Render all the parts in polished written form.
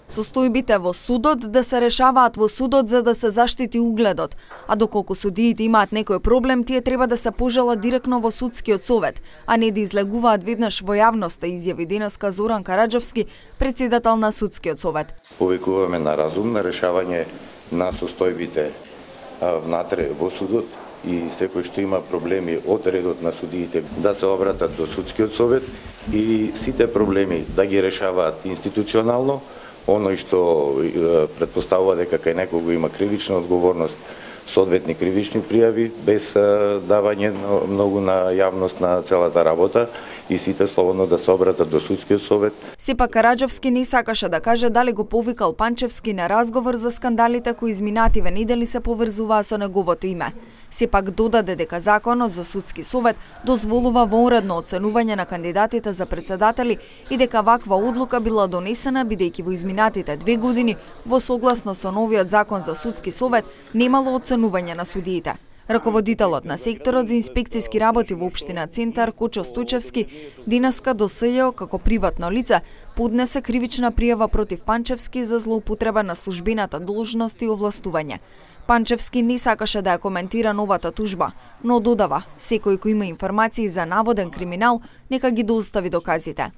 Состојбите во судот да се решаваат во судот за да се заштити угледот, а доколку судиите имаат некој проблем, тие треба да се пожалат директно во судскиот совет, а не да излегуваат веднаш во јавноста, изјави денеска Зоран Караџовски, претседател на судскиот совет. Повикуваме на разум на решавање на состојбите внатре во судот и секој што има проблеми од редот на судиите да се обратат до судскиот совет и сите проблеми да ги решаваат институционално. Оној што претпоставува дека кај некого има кривична одговорност, соодветни кривични пријави, без давање многу на јавност на целата работа и сите слободно да се обратат до судскиот совет. Сепак Караџовски не сакаше да каже дали го повикал Панчевски на разговор за скандалите кои изминативе недели се поврзуваа со неговото име. Сепак додаде дека законот за судски совет дозволува воуредно оценување на кандидатите за претседатели и дека ваква одлука била донесена бидејќи во изминатите 2 години во согласно со новиот закон за судски совет немало оценување на судиите. Раководителот на секторот за инспекцијски работи во општина Центар Кочо Стојчевски денеска до СЈО како приватно лице поднесе кривична пријава против Панчевски за злоупотреба на службената должност и овластување. Панчевски не сакаше да ја коментира новата тужба, но додава, секој кој има информации за наводен криминал, нека ги достави доказите.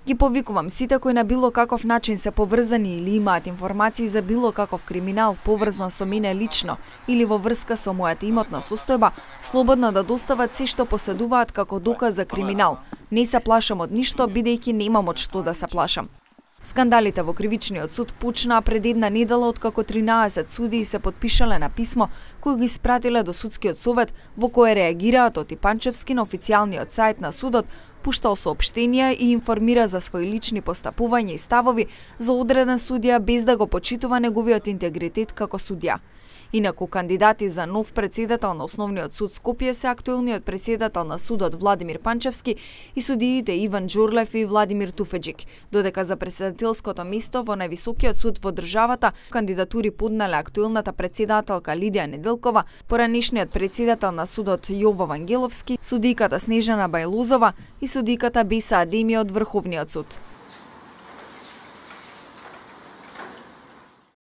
Ги повикувам сите кои на било каков начин се поврзани или имаат информации за било каков криминал поврзан со мене лично или во врска со мојата имотна состојба, слободно да достават се што поседуваат како доказ за криминал. Не се плашам од ништо, бидејќи немам од што да се плашам. Скандалите во кривичниот суд почнаа пред една недела откако 13 судии се потпишале на писмо кој го испратиле до судскиот совет во кое реагираат Оти Панчевски на официјалниот сајт на судот, пуштал соопштенија и информира за своји лични постапувања и ставови за одреден судија без да го почитува неговиот интегритет како судија. Инаку кандидати за нов претседател на Основниот суд Скопје се актуелниот претседател на судот Владимир Панчевски и судиите Иван Џурлев и Владимир Туфеџик, додека за претседателското место во највисокиот суд во државата кандидатури поднале актуелната претседателка Лидија Неделкова, поранешниот претседател на судот Јово Вангеловски, судиката Снежана Бајлузова и судиката Беса Адеми од Врховниот суд.